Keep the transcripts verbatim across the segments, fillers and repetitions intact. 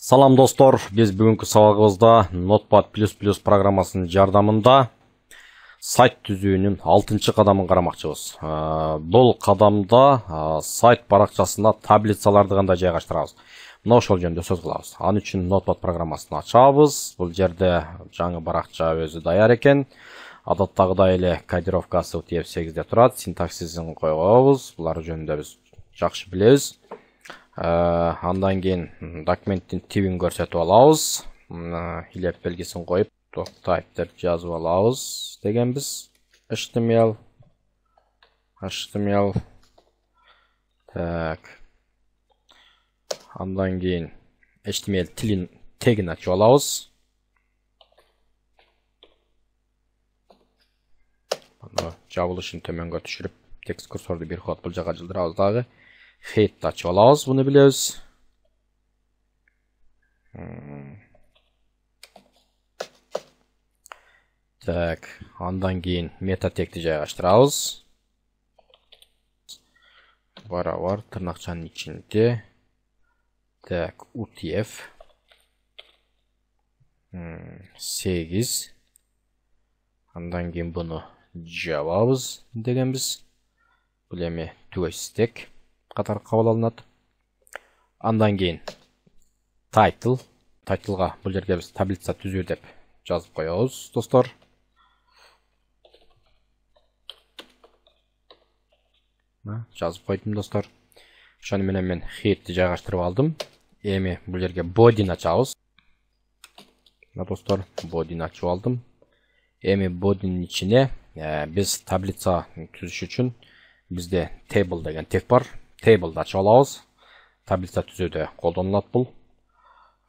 Салам достор, биз бүгүнкү сабагыбызда Notepad плюс плюс программасынын жардамында сайт түзүүнүн алтынчы кадамын карамакчыбыз. Бул кадамда сайт баракчасына таблицаларды кандай жайгаштырабыз. Мына ошол жөнүндө сөз кылабыз. Ал үчүн Notepad программасын ачабыз. Бул жерде жаңы баракча өзү даяр экен. Адаттагыдай эле кодировкасы T F сегизде турат. Синтаксисин койгонбуз. Булар жөнүндө биз жакшы билебиз. Андан кийин документтин типин көрсөтүп алабыз. Илеп белгисин коюп, type деп жазып алабыз дегенбиз. H T M L H T M L так. Андан кийин H T M L тилин тегин ачып алабыз. Аны жабылышын төмөнгө түшүрүп, текст курсорду бир ход бул жака жылдырабыз дагы. Head ачып алабыз, буну билебиз. Так, андан кийин мета тегти жайгаштырабыз. Барабар тырнакчанын ичинде. Так, U T F сегиз. Андан кийин буну жабабыз дегенбиз. Бул эми түгөй стек катары кабыл алынат. Андан кийин title, titleга бул жерге биз таблица түзүү деп жазып коебуз, достор. Жазып койдум, достор. Ошону менен мен head'ти жайгаштырып алдым. Эми бул жерге body'ни ачабыз. Мына достор, body'ни ачып алдым. Эми body'нин ичине биз таблица түзүш үчүн бизде table деген тег бар. Table'ды ачып алабыз. Таблица түзүүдө колдонулат бул.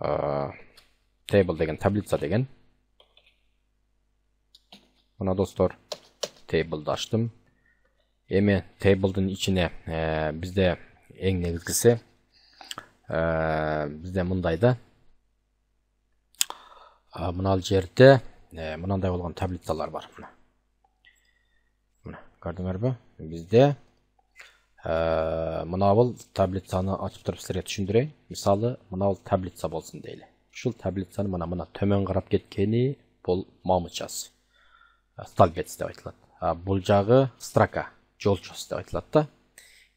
Table деген таблица деген. Мына достор, table'ды ачтым. Эми table'дын ичине бизде эң негизгиси бизде мындай да. Мына жерде мынандай болгон таблицалар бар. Мына, көрдүңөрбү? Бизде мына бул таблицаны ачып туруп силерге түшүндүрөйүн. Мисалы, мына бул таблица болсун дейли. Ушул таблицаны мына мына төмөн карап кеткени бул мамычасы. Столбец деп айтылат. Бул жагы строка, жолчос деп айтылат да.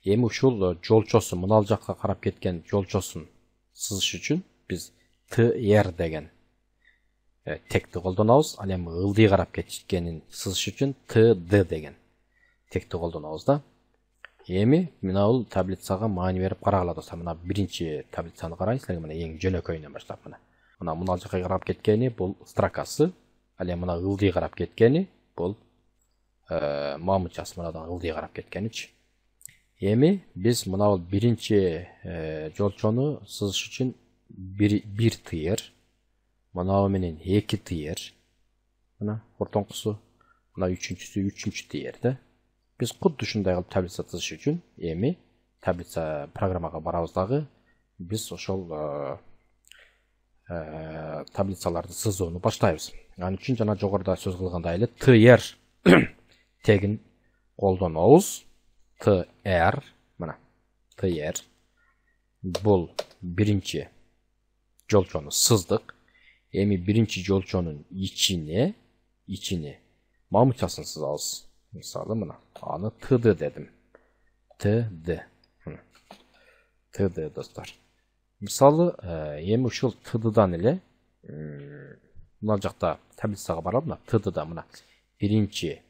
Эми ушул жолчосу мына жакка карап кеткен жолчосун сызыш үчүн биз tr деген тегти колдонобуз. Ал эми ылдый карап кеткенин сызыш үчүн td деген тегти колдонобуз да. Эми мына бул таблицага маани берип карагыла, достор. Мына биринчи таблицаны карайсыз, мына эң жөнөкөйүнөн баштап мына. Мына мына жакка карап кеткени бул строкасы, ал эми мына ылдый карап кеткени бул мамычасы, мынадан ылдый карап кеткеничи. Эми биз мына бул биринчи жолчону сызыш үчүн бир тыйыр, мына менен эки тыйыр, мына ортоңкусу, мына үчүнчүсү үчүнчү тыйыр да. Биз кудду ушундай кылып таблица тызыш үчүн эми таблица программага барабыз дагы биз ошол таблицаларды сызууну баштайбыз. Ал үчүн жана жогоруда сөз кылгандай эле tr тегин колдонобуз. Tr, мына tr бул биринчи жолчону сыздык. Эми биринчи жолчонун ичине ичине мамычасын сызабыз. Мисалы, мына аны td дедим. Td. Td, достор. Мисалы, эми ушул tdдан эле мына жакта таблицага барып, мына tdда мына биринчи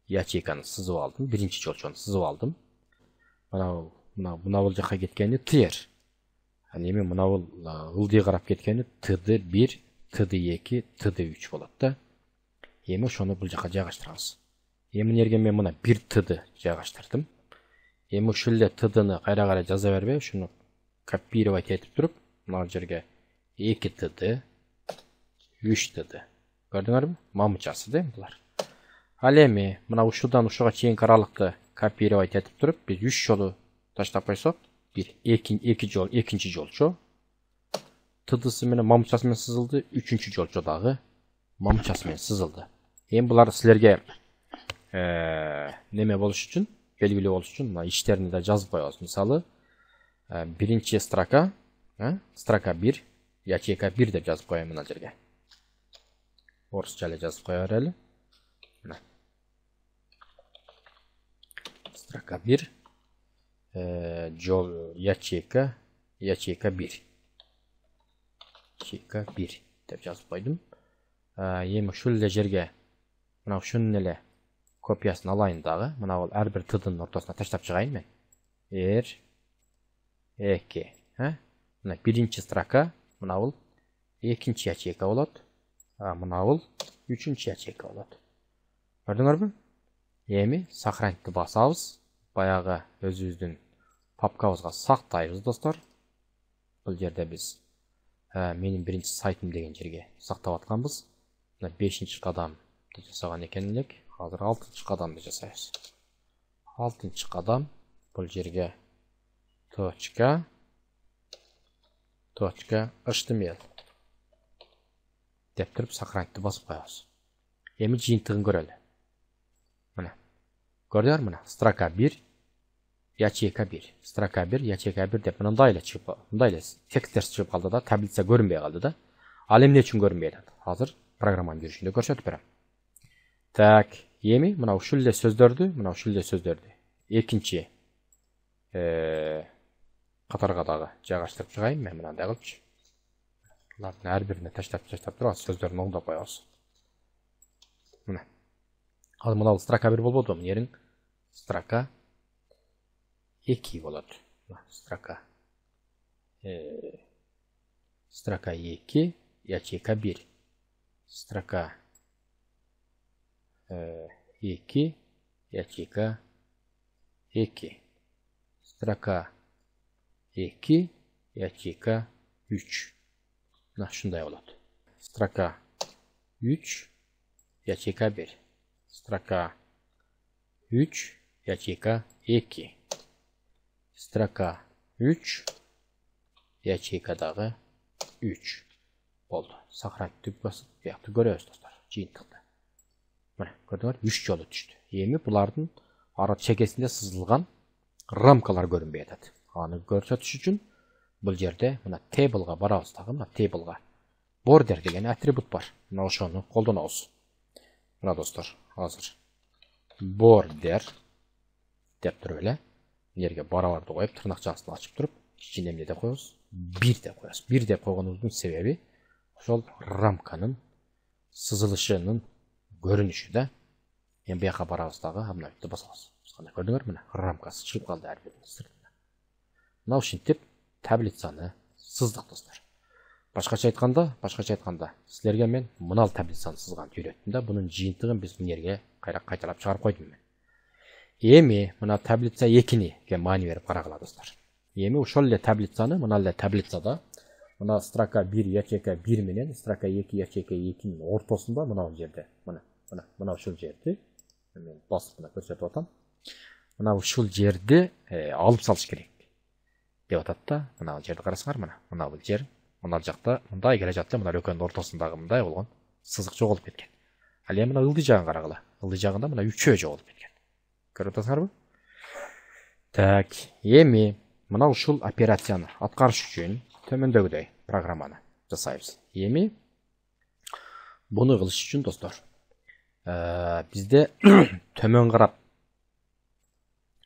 ячейканы сызып алдым, биринчи жолчону сызып алдым. Мына мына мына бул жакка кеткени tr. Ал эми мына бул ылдый карап кеткени td бир, td эки, td үч болот да. Эми ошону бул жакка жайгаштырабыз. Эми нерге мен мына бир td жайгаштырдым. Эми ушул эле tdны кайра кайра жаза бербей, ушуну копировать этип туруп, мына жерге эки td, үч td. Көрдүңөрбү? Мамычасы да булар. Ал эми мына ушудан ушуга чейинки аралыкты копировать этип туруп, биз үч жолу таштап койсок, бир эки жол, экинчи жолчо tdсы менен мамычасы менен сызылды, үчүнчү жолчо дагы мамычасы менен сызылды. Эми булар силерге неме болуш үчүн, белгилүү болуш үчүн мына иштерини да жазып коебуз. Мисалы, биринчи строка, строка бир, ячейка бир деп жазып коеюн мына жерге. Орусча эле жазып кое берели. Мына. Строка бир. Э, жол ячейка, ячейка бир. Ячейка бир деп жазып койдум. Эми ушул эле жерге мына ушунун эле копиясын алайын дагы. Мына бул ар бир тдын ортосуна таштап чыгайын мен. эр эки, э? Мына биринчи строка, мына бул экинчи ячейка болот. А мына бул үчүнчү ячейка болот. Көрдүңөрбү? Эми сохранитти басабыз. Баягы өзүбүздүн папкабызга сактайбыз, достор. Бул жерде биз менин биринчи сайтым деген жерге сактап атканбыз. Мына бешинчи кадамды жасаган экен элек. Азыр алтынчы кадамды жасайбыз. алтынчы кадам бул жерге точка точка эйч ти эм эл деп туруп сохранитти басып коебуз. Эми жыйынтыгын көрөлү. Мына. Көрдүңөр мына строка бир, ячейка бир. Строка бир, ячейка бир деп мындай эле чыгып, мындай эле текстер чыгып калды да, таблица көрүнбөй калды да. Ал эмне үчүн көрүнбөй атат? Азыр программанын жүрүшүндө көрсөтүп берем. Так, эми мына ушул эле сөздөрдү, мына ушул эле сөздөрдү экинчи э катарга дагы жайгаштырып чыгайын мен мындай кылчу. Булардын ар бирине таштап таштап туруп сөздөрүн оңдоп коебуз. Мына. Ал мына бул строка бир болбоду, мына жерин строка эки болот. Строка э строка эки, ячейка бир. Строка э эки, ячейка эки. Строка эки, ячейка үч. Мына ушундай болот. Строка үч, ячейка бир. Строка үч, ячейка эки. Строка үч, ячейка дагы үч болду. Сохранитти басып, буякты көрөбүз, достор, жыйынтыкты. Мына, көрдүңөр, үч жолу түштү. Эми булардын ара чекесинде сызылган рамкалар көрүнбөй атат. Аны көрсөтүш үчүн бул жерде мына table'га барабыз дагы, мына table'га border деген атрибут бар. Мына ошону колдонобуз. Мына достор, азыр border деп туруп эле жерге барабарды коюп, тырнакчасын ачып туруп, ичине эмне деп коебуз? бир деп коебуз. бир деп койгонубуздун себеби ошол рамканын сызылышынын көрүнүшү да. Эми буяка барабыз дагы, мына бүтүп басабыз. Кандай көрдүңөр, мына рамкасы чыгып калды ар биринин сыртына. Мына ушинтип таблицаны сыздык, достор. Башкача айтканда, башкача айтканда, силерге мен мына таблицаны сызганды үйрөттүм да, бунун жыйынтыгын биз мына жерге кайра кайталап чыгарып койдум мен. Эми мына таблица экини маани берип карагыла, достор. Эми ошол эле таблицаны, мына эле таблицада мына строка бир, ячейка бир менен строка эки, ячейка экинин ортосунда мына бул жерде, мына, мына, мына ушул жерди мен басып мына көрсөтүп атам. Мына ушул жерди алып салыш керек деп атат да. Мына бул жерди карасаңар, мына, мына бул жер, мына жакта мындай келе жатты, мына экөөнүн ортосундагы мындай болгон сызык жоголуп кеткен. Ал эми мына ылдый жагын карагыла. Ылдый жагында мына үчөө жоголуп кеткен. Көрүп атасыңарбы? Так, эми мына ушул операцияны аткарыш үчүн төмөндөгүдөй программаны жасайбыз. Эми буну кылыш үчүн, достор, бизде төмөн карап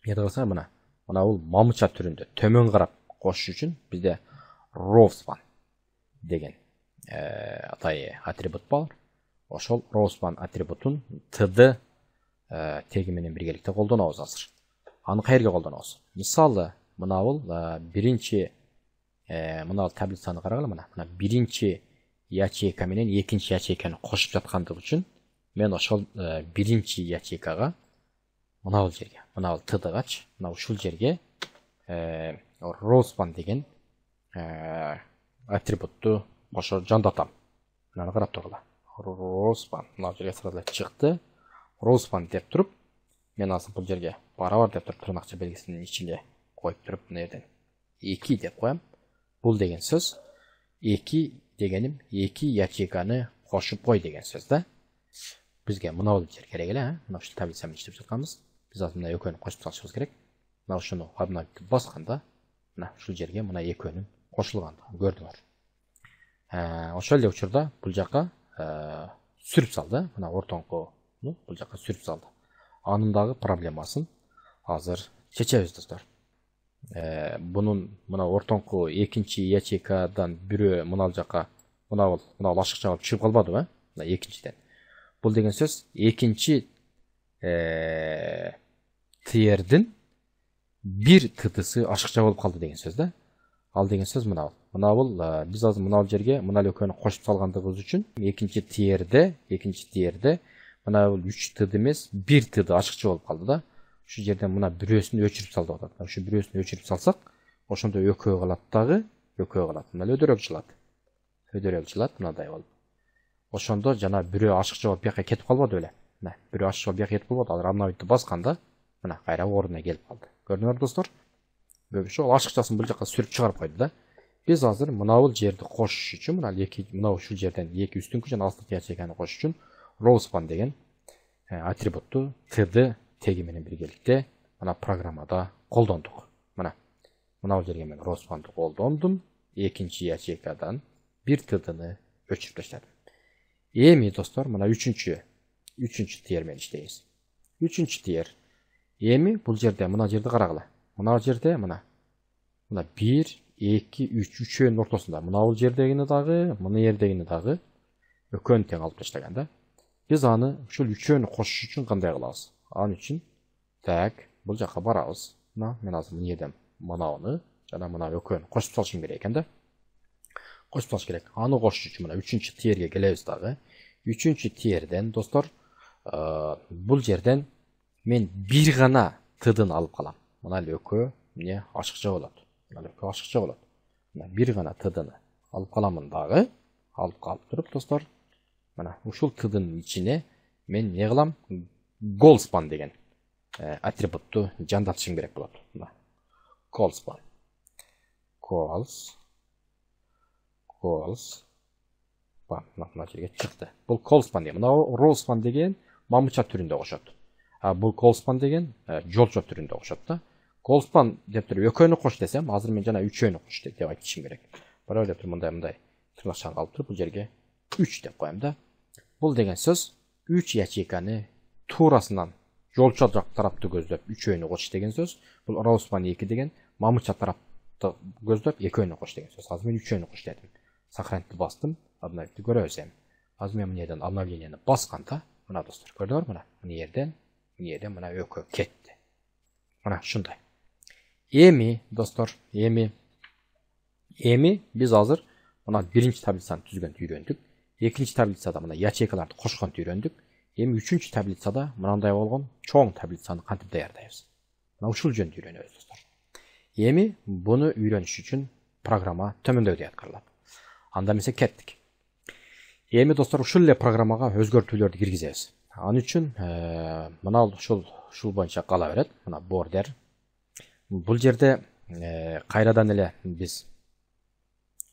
эмне кылсаң мына, мына бул мамыча түрүндө төмөн карап кошуш үчүн бизде rowspan деген атай атрибут бар. Ошол rowspan атрибутун td теги менен биргеликте колдонобуз азыр. Аны каерге колдонобуз? Мисалы, мына бул биринчи мына таблицаны карагыла, мына, мына биринчи ячейка менен экинчи ячейканы кошуп жаткандыгы үчүн мен ошол биринчи ячейкага мына бул жерге, мына бул tdгач, мына ушул жерге rowspan деген атрибутту кошо жандатам. Мына карап тургула. Rowspan мына жерге сразу чыкты. Rowspan деп туруп, мен азыр бул жерге барабар деп туруп тырнакча белгисинин ичине коюп туруп, мына жерден эки деп коем. Бул деген сөз эки дегеним эки ячейканы кошуп кой деген сөз да. Бизге мына бул жер керек эле, мына ушул таблица менен иштеп жатканбыз. Биз азыр мына экөөнү кошуп салышыбыз керек. Мына ушуну кабына басканда, мына ушул жерге мына экөөнүн кошулгандыгын көрдүңөр. ошол эле учурда бул жака сүрүп салды. Мына ортоңкуну бул жака сүрүп салды. Анын дагы проблемасын азыр чечебиз достор. Бунун мына ортоңку экинчи ячейкадан бирөө мына жака мына бул мына ашыкча болуп чыгып калбадыбы? Мына экинчиден. Бул деген сөз экинчи тиердин бир тытысы ашыкча болуп калды деген сөз да. Ал деген сөз мына бул. Мына бул биз азыр мына жерге мына экөөнү кошуп салгандыгыбыз үчүн экинчи тиерде, экинчи тиерде мына бул үч тыды эмес, бир тыды ашыкча болуп калды да. Ушу жерден мына бирөөсүн өчүрүп салды деп атат. Ушу бирөөсүн өчүрүп салсак, ошондо экөө калат дагы, экөө калат. Мына өдөрөк жылат. Өдөрөк жылат мындай болуп. Ошондо жана бирөө ашыкча болуп бияка кетип калбады беле? Мына бирөө ашыкча болуп бияка кетип калбады. Азыр обновить басканда мына кайра ордуна келип калды. Көрдүңөрбү достор? Көбүчө ал ашыкчасын бул жака сүрүп чыгарып койду да. Биз азыр мына бул жерди кошуш үчүн, мына эки мына ушул жерден эки үстүнкү жана астыңкы ячейканы кошуш үчүн rowspan деген атрибутту тыды теги менен биргеликте мына программада колдондук. Мына мына бул жерге мен rowspanды колдондум. Экинчи ячейкадан бир тыдыны өчүрүп таштадым. Эми достор, мына үчүнчү үчүнчү тиер менен иштейбиз. Үчүнчү тиер. Эми бул жерде мына жерди карагыла. Мына жерде мына мына бир, эки, үч, үчөөнүн ортосунда. Мына бул жердегини дагы, мына жердегини дагы экөөнү тең алып таштаган да. Биз аны ушул үчөөнү кошуш үчүн кандай кылабыз? Анын үчүн так бул жака барабыз. Мына мен азыр мына жерден мынауны жана мына экөөнү кошуп салышым керек экен да. Кошуп салыш керек. Аны кошуш үчүн мына үчүнчү тиерге келебиз дагы. Үчүнчү тиерден достор, бул жерден мен бир гана тыдын алып калам. Мына экөө эмне ашыкча болот. Мына экөө ашыкча болот. Мына бир гана тыдыны алып каламын дагы. Алып калып туруп достор, мына ушул тыдынын ичине мен эмне кылам? Goldspan деген атрибутту жандатышым керек болот. Мына Goldspan. Goals Goals мына жерге чыкты. Бул Goldspan деген. Мына rowspan деген мамыча түрүндө окшот. А бул Goldspan деген жолчо түрүндө окшот да. Goldspan деп туруп экөөнү кош десем, азыр мен жана үчөөнү кош деп айтышым керек. Бирок деп туруп мындай мындай тырнакчаны алып туруп бул жерге үч деп коем да. Бул деген сөз үч ячейканы туурасынан жолчо тарапты көздөп үчөөнү кош деген сөз. Бул rowspan эки деген мамыча тарапты көздөп экөөнү кош деген сөз. Азыр мен үчөөнү кош дедим. Сохранить бастым. Обновить көрөбүз эми. Азыр мен мына жерден обновлениени басканда, мына достор, көрдүңөрбү мына? Мына жерден, мына жерден мына экөө кетти. Мына ушундай. Эми достор, эми эми биз азыр мына биринчи таблицаны түзгөндү үйрөндүк. Экинчи таблицада мына ячейкаларды кошконду үйрөндүк. Эми үчүнчү таблицада мындай болгон чоң таблицаны кантип даярдайбыз? Мына ушул жөнүндө үйрөнөбүз достор. Эми буну үйрөнүш үчүн программа төмөндөгүдөй аткарылат. Анда эмесе кеттик. Эми достор ушул эле программага өзгөртүүлөрдү киргизебиз. Ал үчүн мына ушул ушул боюнча кала берет. Мына border. Бул жерде кайрадан эле биз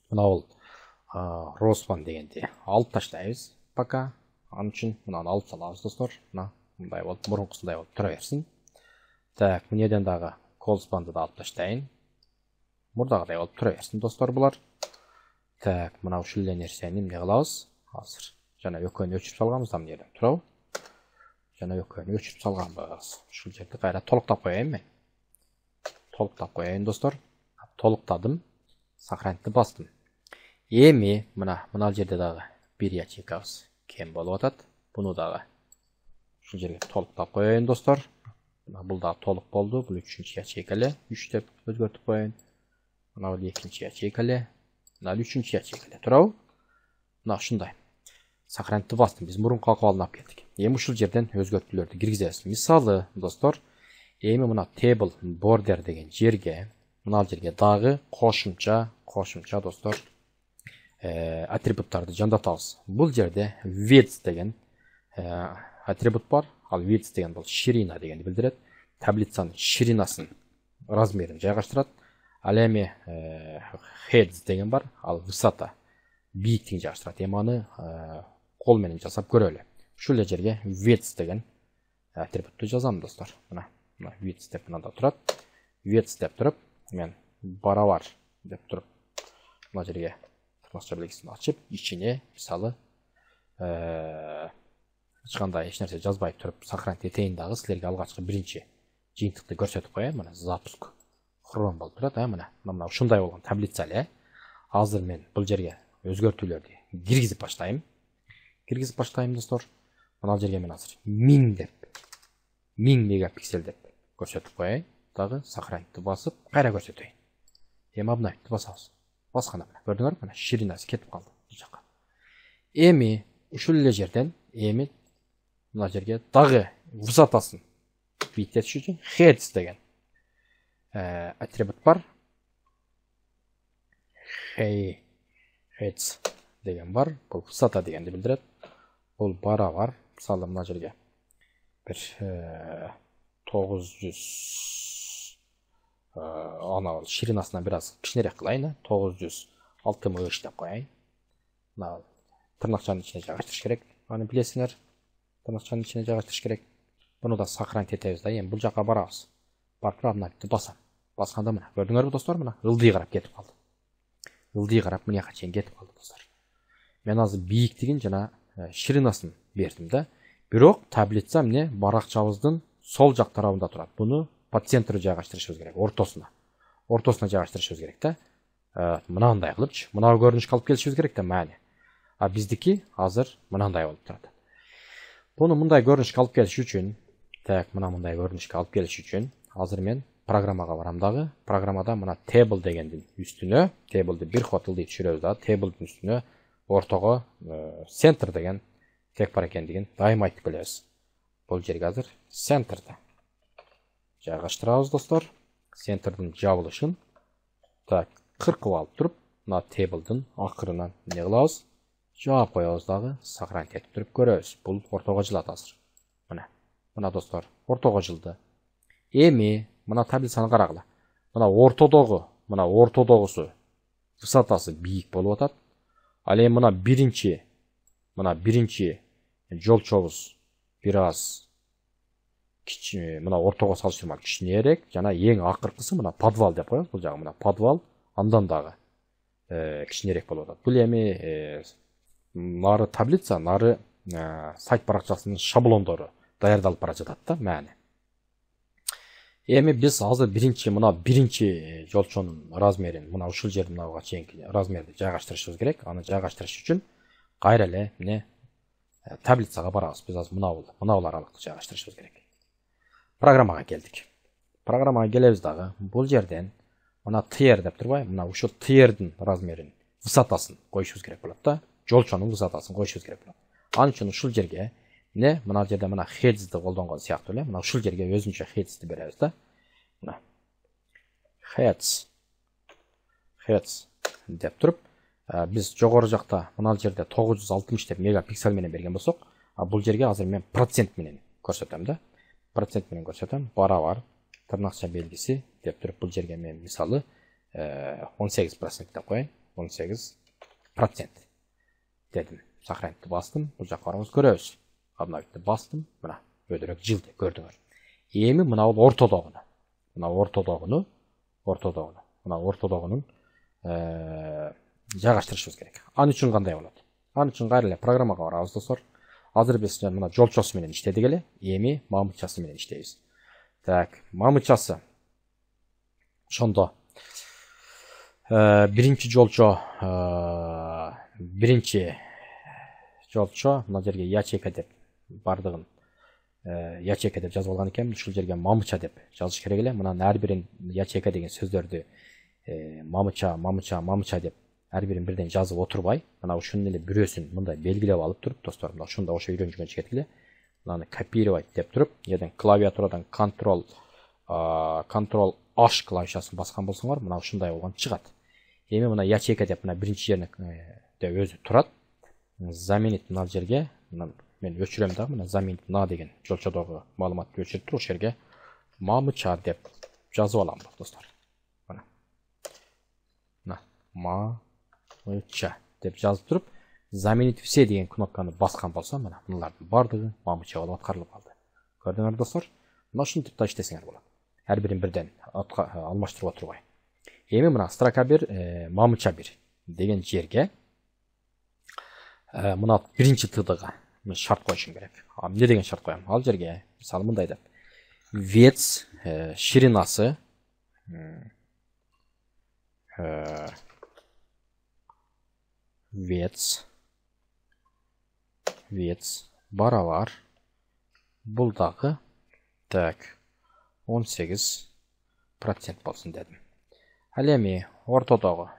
мына бул rowspan дегенди алып таштайбыз пока. Ал үчүн мынаны алып салабыз достор. Мына мындай болуп, мурункусундай болуп тура берсин. Так, мына жерден дагы Goldspan'ды да алып таштайын. Мурдагыдай болуп тура берсин достор булар. Так, мына ушул эле нерсени эмне кылабыз? Азыр жана экөөнү өчүрүп салганбыз да мына жерден турабы? Жана экөөнү өчүрүп салганбыз. Ушул жерди кайра толуктап коеюн мен. Толуктап коеюн достор. Толуктадым. Сохранить бастым. Эми мына мына жерде дагы бир ячейкабыз кем болуп атат. Буну дагы ушул жерге толуктап коеюн достор. Мына бул дагы толук болду. Бул үчүнчү ячейка эле. үч деп өзгөртүп коеюн. Мына бул экинчи ячейка эле. Мына үчүнчү ячейка эле. Турабы? Мына ушундай. Сохранить бастым. Биз мурунку акыбалына алып келдик. Эми ушул жерден өзгөртүүлөрдү киргизебиз. Мисалы, достор, эми мына table border деген жерге, мына жерге дагы кошумча, кошумча достор, атрибуттарды жандатабыз. Бул жерде width деген атрибут бар. Ал width деген бул ширина дегенди билдирет. Таблицанын ширинасын, размерин жайгаштырат. Ал эми heads деген бар. Ал высота, бийиктигин жайгаштырат. Эми аны кол менен жасап көрөлү. Ушул эле жерге width деген атрибутту жазам достор. Мына, мына width деп мынада турат. Width деп туруп, мен барабар деп туруп, мына жерге тырнакча белгисин ачып, ичине мисалы эч кандай эч нерсе жазбай туруп сохранить этейин дагы силерге алгачкы биринчи жыйынтыкты көрсөтүп коеюн. Мына запуск хром болуп турат. А мына мына ушундай болгон таблица эле. Азыр мен бул жерге өзгөртүүлөрдү киргизип баштайм. Киргизип баштайм достор. Мына жерге мен азыр миң деп миң мегапиксель деп көрсөтүп коеюн. Дагы сохранитти басып, кайра көрсөтөйүн. Эми обновить басабыз. Басканда мына көрдүңөрбү? Мына ширинасы кетип калды бул жака. Эми ушул эле жерден эми мына жерге дагы высотасын биттетиш үчүн heads деген атрибут бар. Hey heads деген бар. Бул высота дегенди билдирет. Бул бара бар. Мисалы мына жерге бир тогуз жүз ана ширинасынан бир аз кичинерээк кылайын. тогуз жүз алтымыш үч деп коеюн. Мына тырнакчанын ичине жайгаштырыш керек. Аны билесиңер. Тырнакчанын ичине жайгаштырыш керек. Буну да сохранить этебиз да. Эми бул жака барабыз. Барып обновить басам. Басканда мына көрдүңөрбү достор, мына ылдый карап кетип калды. Ылдый карап мына жака чейин кетип калды достор. Мен азыр бийиктигин жана ширинасын бердим да. Бирок таблица эмне баракчабыздын сол жак тарабында турат. Буну по центру жайгаштырышыбыз керек, ортосуна. Ортосуна жайгаштырышыбыз керек да. Мынандай кылыпчы, мына көрүнүшкө алып келишибиз керек да маани. А биздики азыр мынандай болуп турат. Буну мындай көрүнүшкө алып келиш үчүн, так, мына мындай көрүнүшкө алып келиш үчүн азыр мен программага барам дагы. Программада мына table дегендин үстүнө, table'ды бир ход ылдый түшүрөбүз да. Table'дын үстүнө ортого center деген тек бар экендигин дайыма айтып келебиз. Бул жерге азыр center'ды жайгаштырабыз достор. Center'дын жабылышын так кыркып алып туруп, мына table'дын акырынан эмне кылабыз? Жаап коебуз дагы, сохранить этип туруп көрөбүз. Бул ортого жылат азыр. Мына. Мына достор, ортого жылды. Эми мына таблицаны карагыла. Мына ортодогу, мына ортодогусу высотасы бийик болуп атат. Ал эми мына биринчи, мына биринчи жолчобуз бир аз кичи, мына ортого салыштырмалуу кичинерээк, жана эң акыркысы мына подвал деп коебуз. Бул жагы мына подвал, андан дагы кичинерээк болуп атат. Бул эми нары таблица, нары сайт баракчасынын шаблондору даярдалып бара жатат да, маани. Эми биз азыр биринчи мына биринчи жолчонун размерин мына ушул жердин мынага чейинки размерди жайгаштырышыбыз керек. Аны жайгаштырыш үчүн кайра эле эмне таблицага барабыз. Биз азыр мына мына аралыкты жайгаштырышыбыз керек. Программага келдик. Программага келебиз дагы. Бул жерден мына tier деп турбайбы? Мына ушул tierдин размерин, высотасын коюшубуз керек болот да. Жолчонун высотасын коюшубуз керек болот. Ал үчүн ушул жерге эмне мына жерде мына heads'ди колдонгон сыяктуу эле. Мына ушул жерге өзүнчө heads'ди беребиз да. Мына heads heads деп туруп, биз жогору жакта мына жерде тогуз жүз алтымыш деп мегапиксель менен берген болсок, а бул жерге азыр мен процент менен көрсөтөм да. Процент менен көрсөтөм. Барабар тырнакча белгиси деп туруп бул жерге мен мисалы он сегиз процент деп коеюн. он сегиз процент дедим. Сохранитти бастым. Бул жакка барабыз көрөбүз. Обновитти бастым. Мына өйдөрөк жылды көрдүңөр. Эми мына бул ортодогуну. Мына ортодогуну, ортодогуну. Мына ортодогунун жайгаштырышыбыз керек. Аны үчүн кандай болот? Аны үчүн кайра эле программага барабыз достор. Азыр биз мына жолчосу менен иштедик эле. Эми мамычасы менен иштейбиз. Так, мамычасы. Ошондо биринчи жолчо, биринчи жолчо мына жерге ячейка деп бардыгын ячейка деп жазып алган экенмин. Ушул жерге мамыча деп жазыш керек эле. Мына ар бирин ячейка деген сөздөрдү мамыча, мамыча, мамыча деп ар бирин бирден жазып отурбай, мына ушунун эле бирөөсүн мындай белгилеп алып туруп, достор, мына ушунда ошо үйрөнүп жүргөн чекет эле. Мынаны копировать деп туруп, жерден клавиатурадан Ctrl Ctrl H клавишасын баскан болсоңор, мына ушундай болгон чыгат. Эми мына ячейка деп мына биринчи жерине өзү турат. Заменить мына жерге мен өчүрөм дагы, мына заменить на деген жолчодогу маалыматты өчүрүп туруп, ошол жерге мамыча деп жазып алам достор. Мына. Мына мамыча деп жазып туруп, заменить все деген кнопканы баскан болсом, мына мыналардын бардыгы мамыча болуп аткарылып калды. Көрдүңөр достор? Мына ушинтип да иштесеңер болот. Ар бирин бирден алмаштырып отурбай. Эми мына строка бир, мамыча бир деген жерге мына биринчи тдга мен шарт коюшум керек. А эмне деген шарт коем? Ал жерге мисалы мындай деп. Вец ширинасы вец вец барабар бул дагы так он сегиз процент болсун дедим. Ал эми ортодогу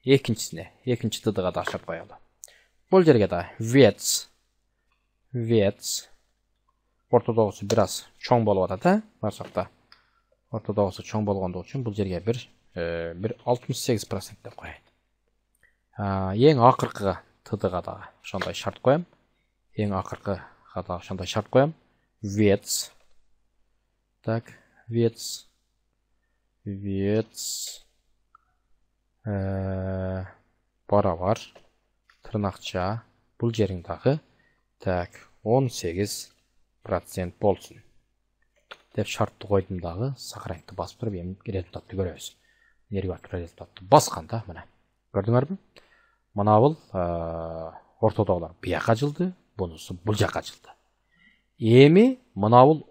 экинчисине, экинчи тдга да шарт коелу. Бул жерге да вец вец ортодогусу бир аз чоң болуп атат, а? Барсакта ортодогусу чоң болгондугу үчүн бул жерге бир бир алтымыш сегиз процент деп коеюн. Эң акыркы тдга да ошондой шарт коем. Эң акыркыга да ошондой шарт коем. Вец так вец вец барабар тырнакча бул жериң дагы так он сегиз процент болсун деп шартты койдум дагы сохранить басып туруп эми результатты көрөбүз. Эмнеге барып результатты басканда мына көрдүңөрбү? Мына бул ортодогулар бияка жылды, бунусу бул жака жылды. Эми мына бул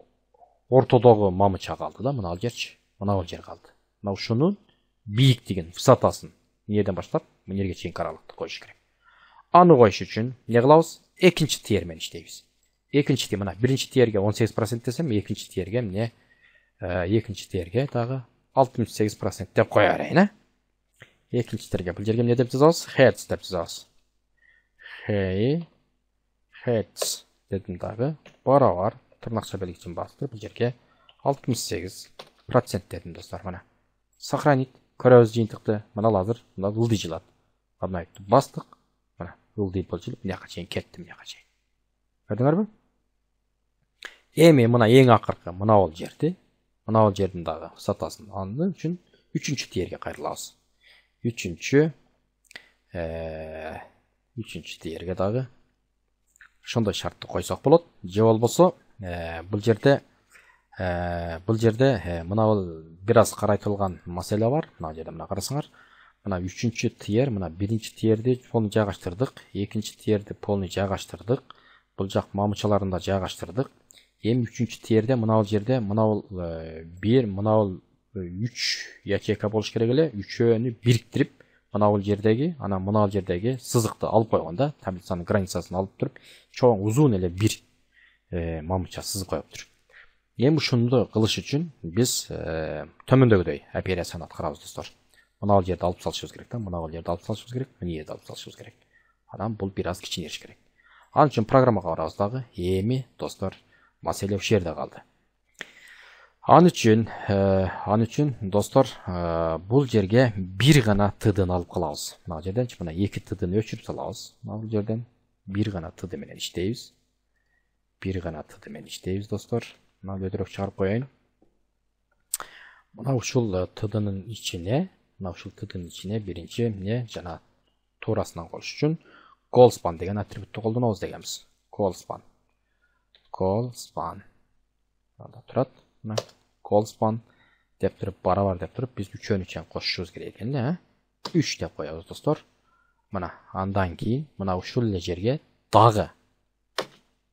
ортодогу мамыча калды да, мына ал жерчи. Мына бул жер калды. Мына ушунун бийиктигин, высотасын эмнеден баштап эмнеге чейин аралыкты коюш керек. Аны коюш үчүн эмне кылабыз? Экинчи тиер менен иштейбиз. Экинчи тиер, мына биринчи тиерге он сегиз процент десем, экинчи тиерге эмне? Экинчи тиерге дагы алтымыш сегиз процент деп кое берейин, а? Экинчи тиерге бул жерге эмне деп жазабыз? Heads деп жазабыз. Hey heads дедим дагы барабар тырнакча белгисин басып бул жерге алтымыш сегиз процент дедим достор. Мына сохранить көрөбүз жыйынтыкты. Мына азыр мына ылдый жылат. Обновить бастык. Мына ылдый болчулуп мынаяка чейин кетти, мынаяка чейин. Көрдүңөрбү? Эми мына эң акыркы мына бул жерди, мына бул жердин дагы высотасын алуу үчүн үчүнчү тиерге кайрылабыз. Үчүнчү э үчүнчү тиерге дагы ошондой шартты койсок болот. Же болбосо бул жерде бул жерде мына бул бир аз карайтылган маселе бар. Мына жерде мына карасаңар, мына үчүнчү тиер, мына биринчи тиерди полный жайгаштырдык, экинчи тиерди полный жайгаштырдык, бул жак мамычаларын да жайгаштырдык. Эми үчүнчү тиерде мына бул жерде мына бул бир, мына бул үч ячейка болуш керек эле, үчөөнү бириктирип, мына бул жердеги, анан мына бул жердеги сызыкты алып койгонда, таблицанын границасын алып туруп, чоң узун эле бир мамыча сызык коюптур. Эми ушунду кылыш үчүн биз төмөндөгүдөй операцияны аткарабыз достор. Мына бул жерди алып салышыбыз керек да, мына бул жерди алып салышыбыз керек, мына жерди алып салышыбыз керек. Анан бул бир аз кичинериш керек. Ал үчүн программага барабыз дагы. Эми достор, маселе ушул жерде калды. Ал үчүн, ал үчүн достор, бул жерге бир гана тдны алып калабыз. Мына жерденчи мына эки тдны өчүрүп салабыз. Мына бул жерден бир гана тд менен иштейбиз. Бир гана тд менен иштейбиз достор. Мына өтөрөк чыгарып коеюн. Мына ушул тднын ичине, мына ушул тднын ичине биринчи эмне жана туурасынан коюш үчүн callSpan деген атрибутты колдонобуз дегенбиз. callSpan. callSpan. Анда турат. Мына callSpan деп туруп барабар деп туруп биз үчөөнү чейин кошушубуз керек экен эле, а? үч деп коебуз достор. Мына андан кийин мына ушул эле жерге дагы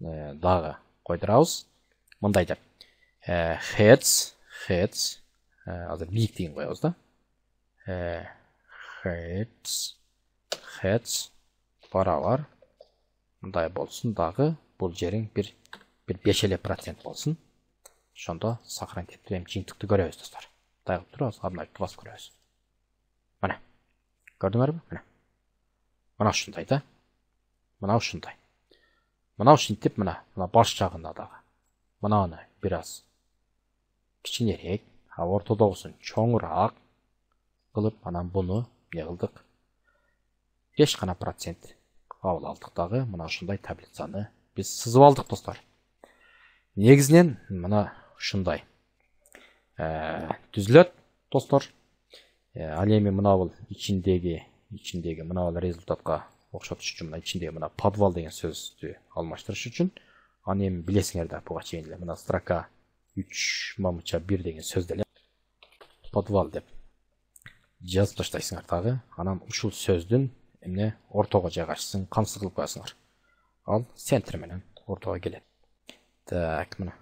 дагы койдурабыз. Мындай деп heads heads азыр бийиктигин коебуз да. heads heads барабар мындай болсун дагы, бул жериң бир бир беш эле процент болсун. Ошондо сохранить этип эми жыйынтыкты көрөбүз достор. Дагы турабыз, обновить басып көрөбүз. Мына көрдүңөрбү? Мына мына ушундай да. Мына ушундай. Мына ушинтип мына мына баш жагында дагы мынаны бир аз кичинерээк, а ортодогусун чоңураак кылып, анан буну эмне кылдык? беш гана процент кабыл алдык дагы. Мына ушундай таблицаны биз сызып алдык достор. Негизинен мына ушундай түзүлөт достор. Ал эми мына бул ичиндеги ичиндеги мына бул результатка окшотуш үчүн мына ичиндеги мына подвал деген сөздү алмаштырыш үчүн, аны эми билесиңер да, буга чейин эле мына строка үч мамыча бир деген сөздү эле подвал деп жазып таштайсыңар дагы. Анан ушул сөздүн эмне ортого жайгашсын, камсыз кылып коесуңар. Ал центр менен ортого келет. Так, мына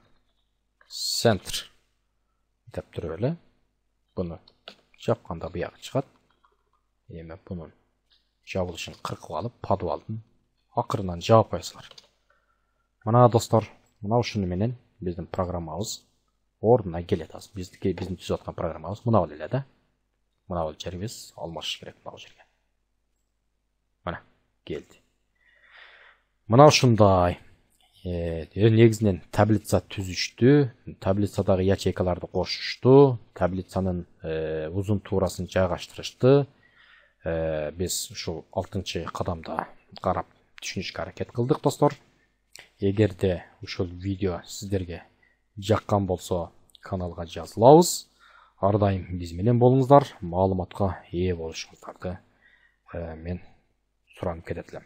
центр деп туруп эле буну жапканда буяга чыгат. Эми бунун жабылышын кыркып алып, падып алдым. Акырынан жаап коесуңар. Мына достор, мына ушуну менен биздин программабыз ордуна келет. Биздики биздин түзүп аткан программабыз мына эле да. Мына бул жерибиз алмашыш керек мына жерге. Мына келди. Мына ушундай э негизинен таблица түзүштү, таблицадагы ячейкаларды кошушту, таблицанын узун туурасын жайгаштырышты. Э биз ушул алтынчы кадамда карап түшүнүшкө аракет кылдык достор. Эгерде ушул видео сиздерге жаккан болсо, каналга жазылабыз. Ар дайым биз менен болуңуздар, маалыматка ээ болушуңуздарды мен суранып кетет элем.